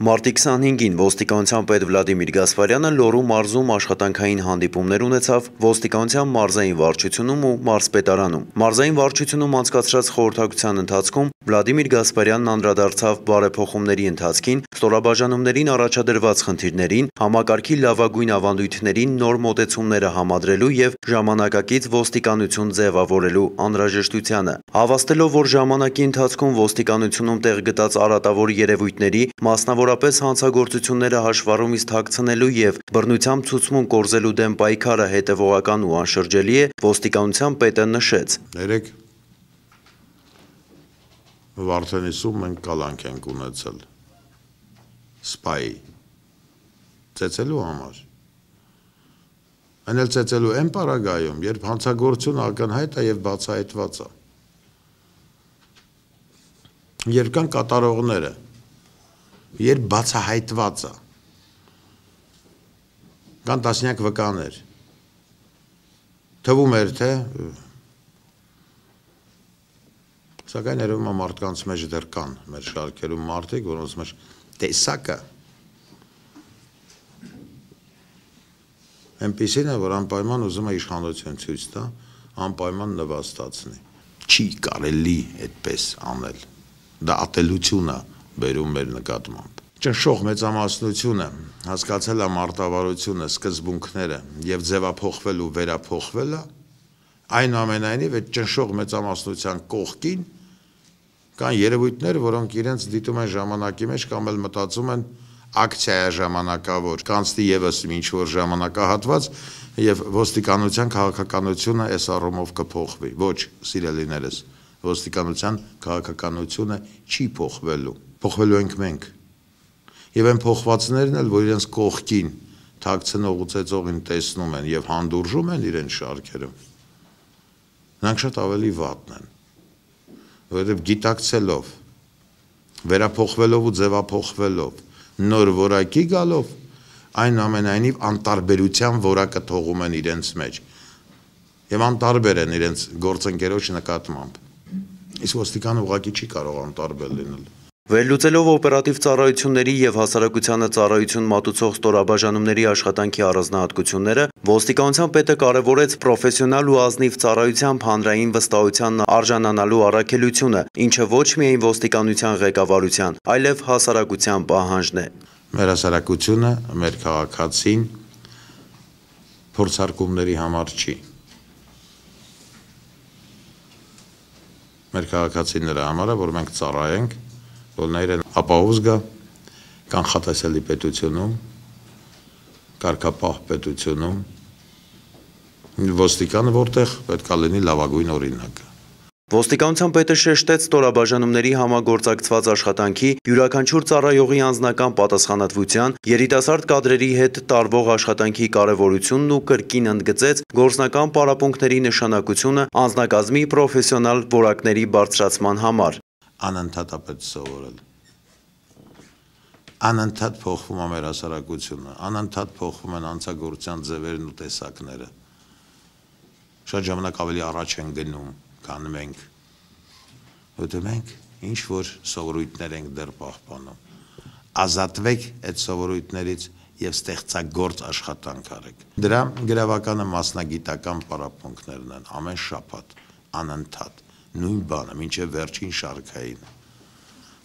Մարտի 25-ին ոստիկանության պետ Վլադիմիր Գասպարյանը Լոռու մարզում աշխատանքային հանդիպումներ ունեցավ ոստիկանության մարզային վարչությունում ու մարզպետարանում։ Մարզային վարչությունում անցկացրած խորհրդակցության ընթացքում Վլադիմիր Գասպարյանն անդրադարձավ բարեփոխումների ընթացքին, ստորաբաժանումներին առաջադրված խնդիրներին, համակարգի լավագույն ավանդույթներին նոր մոտեցումները համադրելու և ժամանակակից ոստիկանություն ձևավորելու անհրաժեշտությանը։ Հավաստելով, որ ժամանակի ընթացքում ոստիկանությունում տեղ գտած արատավոր երևույթների, մասնավորապես հանցագործությունները հաշվառումից թաքցնելու և բռնությամբ ցուցմուն կորզելու դեմ պայքարը հետևողական ու անշրջելի է, ոստիկանության պետը նշեց. Երեք Վարդենիսում մենք կալանք ենք ունեցել սպայի ծեծելու համար։ Այն էլ ծեծելու այն պարագայում, երբ հանցագործությունը ակնհայտ է և բացահայտված է։ Երբ կան կատարողները, երբ բացահայտված է, կան տասնյակ վկաներ, թվում էր, թե սակայն երևում է մարդկանց մեջ դեռ կան մեր շարքերում մարդիկ, որոնց մեջ տեսակը այնպիսին է, որ անպայման ուզում է իշխանություն ցույց տա, անպայման նվաստացնի։ Չի կարելի այդպես անել։ Դա ատելություն է բերում մեր նկատմամբ։ Ճնշող մեծամասնությունը հասկացել է մարտավարությունը, սկզբունքները և ձևափոխվել ու վերափոխվելը, այնուամենայնիվ այդ ճնշող մեծամասնության կողքին կան երևույթներ, որոնք իրենց դիտում են ժամանակի մեջ կամ էլ մտածում են ակցիա ժամանակավոր, կանցնի ևս ինչ-որ ժամանակահատված և ոստիկանության քաղաքականությունը այս առումով կփոխվի։ Ոչ, սիրելիներս, ոստիկանության քաղաքականությունը չի փոխվելու, փոխվելու ենք մենք։ Եվ այն փոխվածներն էլ, որ իրենց կողքին թաքցնող ու ծեծողին տեսնում են և հանդուրժում են իրենց շարքերում, նրանք շատ ավելի վատն են, որովհետև գիտակցելով, վերափոխվելով ու ձևափոխվելով, նոր որակի գալով, այնուամենայնիվ անտարբերության որակը թողում են իրենց մեջ և անտարբեր են իրենց գործընկերոջ նկատմամբ։ Իսկ ոստիկանը ուղղակի չի կարող անտարբեր լինել։ Վերլուծելով օպերատիվ ծառայությունների և հասարակությանը ծառայություն մատուցող ստորաբաժանումների աշխատանքի առանձնահատկությունները, ոստիկանության պետը կարևորեց պրոֆեսիոնալ ու ազնիվ ծառայությամբ հանրային վստահության արժանանալու առաքելությունը, ինչը ոչ միայն ոստիկանության ղեկավարության, այլև հասարակության պահանջն է։ Մեր հասարակությունը, մեր քաղաքացին փորձարկումների համար չի։ Մեր քաղաքացին նրա համար է, որ մենք ծառայենք, որ նա իրեն ապահով զգա կանխատեսելի պետությունում, կարգապահ պետությունում, ոստիկանը որտեղ պետք է լինի լավագույն օրինակը։ Ոստիկանության պետը շեշտեց ստորաբաժանումների համագործակցված աշխատանքի, յուրաքանչյուր ծառայողի անձնական պատասխանատվության, երիտասարդ կադրերի հետ տարվող աշխատանքի կարևորությունն ու կրկին ընդգծեց գործնական պարապմունքների նշանակությունը անձնակազմի պրոֆեսիոնալ որակների բարձրացման համար։ Անընդհատ է պետք սովորել։ Անընդհատ փոխվում է մեր հասարակությունը, անընդհատ փոխվում են հանցագործության ձևերն ու տեսակները։ Շատ ժամանակ ավելի առաջ են գնում, քան մենք, որտեղ մենք ինչ-որ սովորույթներ ենք դեռ պահպանում։ Ազատվեք այդ սովորույթներից և ստեղծագործ աշխատանք արեք։ Դրա գրավականը մասնագիտական պարապմունքներն են, ամեն շաբաթ, անընդհատ, նույն բանը, մինչև վերջին շարքային,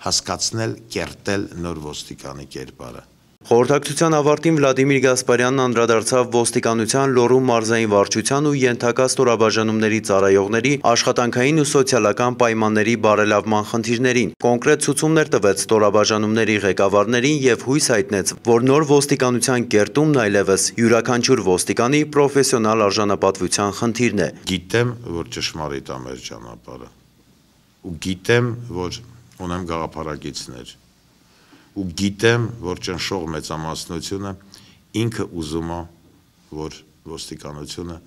հասկացնել, կերտել նոր ոստիկանի կերպարը։ Խորհրդակցության ավարտին Վլադիմիր Գասպարյանն անդրադարձավ ոստիկանության Լոռու մարզային վարչության ու ենթակա ստորաբաժանումների ծառայողների աշխատանքային ու սոցիալական պայմանների բարելավման խնդիրներին, կոնկրետ ցուցումներ տվեց ստորաբաժանումների ղեկավարներին և հույս հայտնեց, որ նոր ոստիկանության կերտումն այլևս յուրաքանչյուր ոստիկանի պրոֆեսիոնալ արժանապատվության խնդիրն է։ Գիտեմ, որ ճշմարիտ է մեր ճանապարհը, ու գիտեմ, որ ունեմ գաղափարակիցներ, ու գիտեմ, որ ճնշող մեծամասնությունը ինքը ուզում է, որ ոստիկանությունը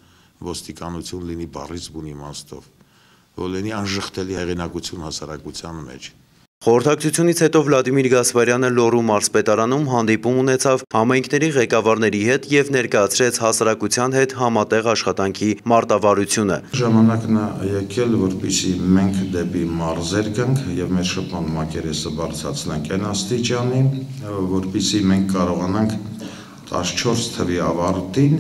ոստիկանություն լինի բառից բուն իմաստով, որ լինի անժխտելի հեղինակություն հասարակության մեջ։ Խորհրդակցությունից հետո Վլադիմիր Գասպարյանը Լոռու մարզպետարանում հանդիպում ունեցավ համայնքների ղեկավարների հետ եւ ներկայացրեց հասարակության հետ համատեղ աշխատանքի մարտավարությունը։ Ժամանակն է եկել, որպեսզի մենք դեպի մարզեր գանք եւ մեր շփման մակերեսը բարձրացնենք այն աստիճանի, որպեսզի մենք կարողանանք 14 թվի ավարտին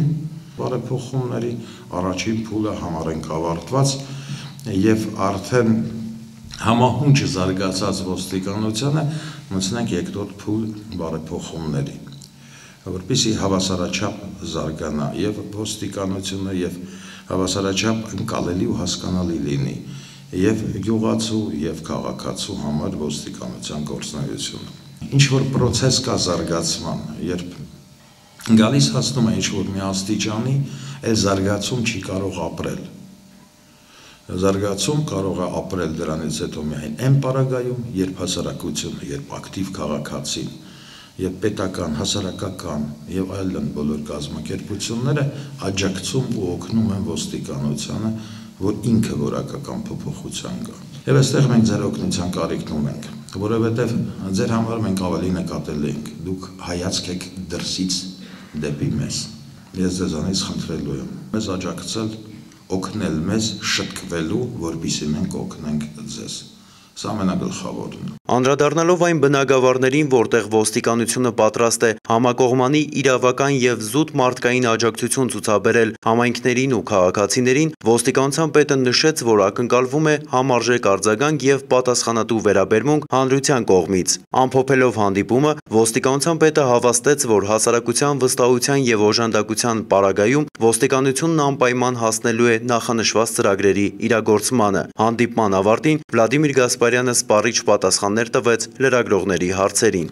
բարեփոխումների առաջին փուլը համարենք ավարտված եւ արդեն համահունչ զարգացած ոստիկանությանը մտցնենք երկրորդ փուլ բարեփոխումների, որպեսզի հավասարաչափ զարգանա եւ ոստիկանությունը եւ հավասարաչափ ընկալելի ու հասկանալի լինի եւ գյուղացու եւ քաղաքացու համար ոստիկանության գործունեությունը։ Ինչ որ process կա զարգացման, երբ գալիս հասնում է ինչ որ մի աստիճանի, այլ զարգացում չի կարող ապրել։ Զարգացում կարող է ապրել դրանից հետո միայն այն պարագայում, երբ հասարակությունը, երբ ակտիվ քաղաքացին, եւ պետական, հասարակական եւ այլն բոլոր կազմակերպությունները աջակցում ու օգնում են ոստիկանությանը, որ ինքը որակական փոփոխության գա։ Եվ այստեղ մենք ձեր օգնության կարիքն ունենք, որովհետեւ ձեր համար մենք ավելի նկատել ենք, դուք հայացք եք դրսից դեպի մեզ։ Ես ձեզանից խնդրելու եմ մեզ աջակցել, օգնել մեզ շտկվելու, որպեսզի մենք օգնենք ձեզ։ Սա ամենագլխավորն է։ Անդրադառնալով այն բնագավառներին, որտեղ ոստիկանությունը պատրաստ է համակողմանի իրավական եւ զուտ մարդկային աջակցություն ցուցաբերել համայնքներին ու քաղաքացիներին, ոստիկանության պետը նշեց, որ ակնկալվում է համարժեք արձագանք եւ պատասխանատու վերաբերմունք հանրության կողմից։ Ամփոփելով հանդիպումը, ոստիկանության պետը հավաստեց, որ հասարակության վստահության եւ օժանդակության պարագայում ոստիկանությունն անպայման հասնելու է նախանշված ծրագրերի իրագործմանը։ Հանդիպման ավարտին Վլադիմիր Գասպարյանը սպառիչ պատասխաններ տվեց լրագրողների հարցերին։